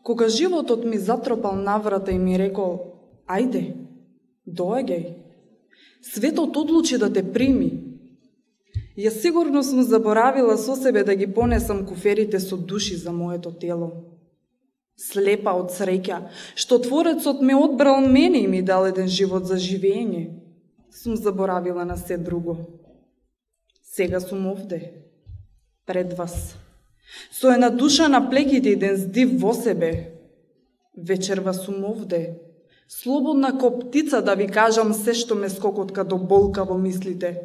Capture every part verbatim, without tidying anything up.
Кога животот ми затропал наврата и ми рекол, ајде, доаѓај, светот одлучи да те прими. Ја сигурно сум заборавила со себе да ги понесам куферите со души за моето тело. Слепа од среќа, што Творецот ме одбрал мене и ми дал еден живот за живење, сум заборавила на се друго. Сега сум овде, пред вас, со една душа на плеките и еден здив во себе. Вечерва сум овде, слободна ко птица да ви кажам се што ме скокотка до болка во мислите,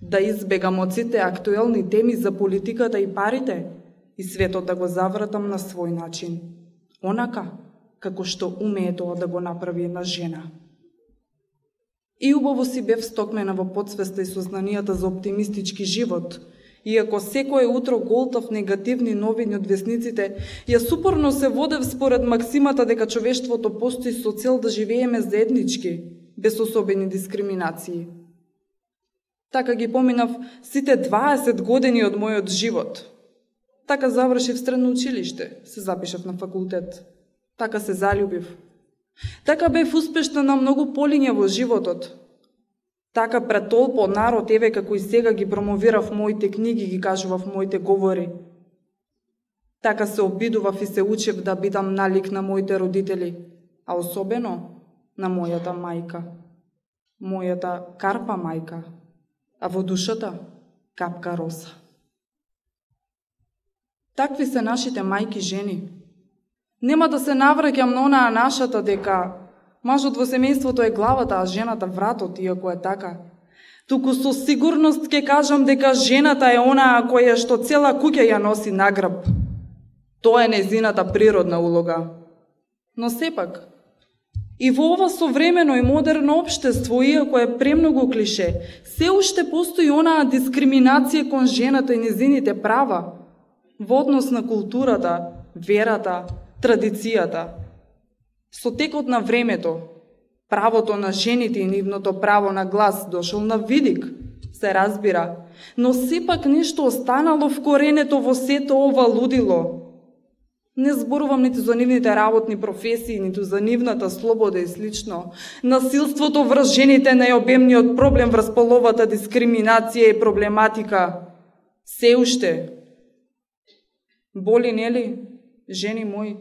да избегам од сите актуелни теми за политиката и парите и светот да го завратам на свој начин, онака како што умее тоа да го направи една жена. И убаво си бев стокмена во потсвеста и сознанијата за оптимистички живот, иако секое утро голтав негативни новини од весниците, јас упорно се водев според максимата дека човештвото постои со цел да живееме заеднички, без особени дискриминации. Така ги поминав сите дваесет години од мојот живот. Така завршив средно училиште, се запишав на факултет. Така се заљубив. Така бев успешна на многу полиња во животот. Така пред толпо народ, еве како и сега ги промовирав моите книги, ги кажував моите говори. Така се обидував и се учев да бидам налик на моите родители, а особено на мојата мајка. Мојата карпа мајка, а во душата капка роса. Такви се нашите мајки жени. Нема да се навраќам на онаа нашата дека мажот во семејството е главата, а жената вратот, иако е така. Туку со сигурност ќе кажам дека жената е онаа која што цела куќа ја носи на грб. Тоа е нејзината природна улога. Но сепак, и во ова современо и модерно општество, иако е премногу клише, се уште постои онаа дискриминација кон жената и нејзините права во однос на културата, верата, традицијата. Со текот на времето, правото на жените и нивното право на глас дошол на видик, се разбира, но сепак нешто останало вкоренето во сето ова лудило. Не зборувам ниту за нивните работни професии, ниту за нивната слобода и слично. Насилството врз жените е најобемниот проблем врз половата дискриминација и проблематика. Се уште. Боли, нели, жени мои?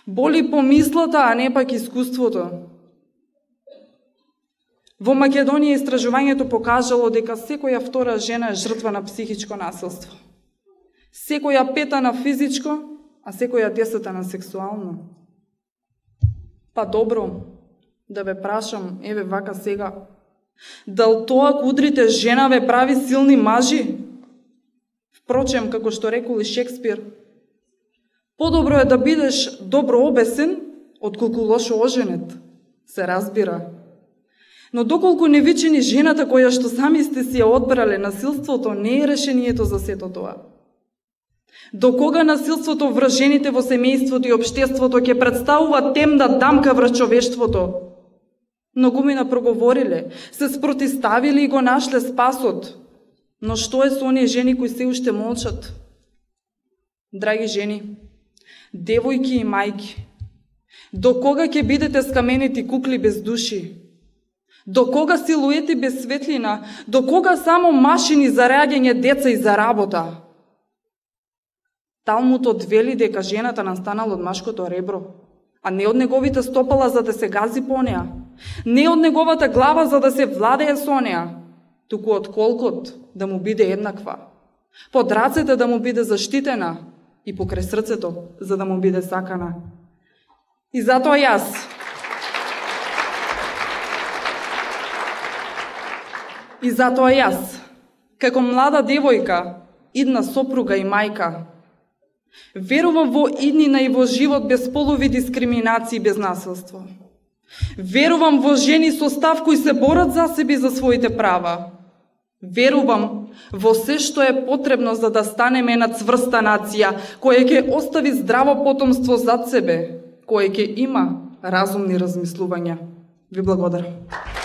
Боли помислата, а не пак искуството. Во Македонија истражувањето покажало дека секоја втора жена е жртва на психичко насилство. Секоја пета на физичко, а секоја десета на сексуално. Па добро, да ве прашам, еве вака сега, дал тоа кудрите жена ве прави силни мажи? Впрочем, како што рекол и Шекспир, подобро е да бидеш добро обесен, отколку лошо оженет, се разбира. Но доколку не вичени жената која што сами сте си ја одбрале, насилството не е решението за сето тоа. До кога насилството врз жените во семејството и општеството ќе представува темна дамка врз човештвото? Многумина проговориле, се спротиставиле и го нашле спасот. Но што е со оние жени кои се уште молчат? Драги жени, девојки и мајки, до кога ќе бидете скаменети кукли без души? До кога силуети без светлина? До кога само машини за раѓање деца и за работа? Талмутот вели дека жената настанала од машкото ребро, а не од неговите стопала за да се гази по неа, не од неговата глава за да се владее со неа, туку од колкот да му биде еднаква, под рацете да му биде заштитена и покрај срцето за да му биде сакана. И затоа јас, и затоа јас, како млада девојка, идна сопруга и мајка, верувам во иднина и во живот без полови дискриминации и без насилство. Верувам во жени со став кои се борат за себе и за своите права. Верувам во се што е потребно за да станеме една цврста нација, која ќе остави здраво потомство зад себе, која ќе има разумни размислувања. Ви благодарам.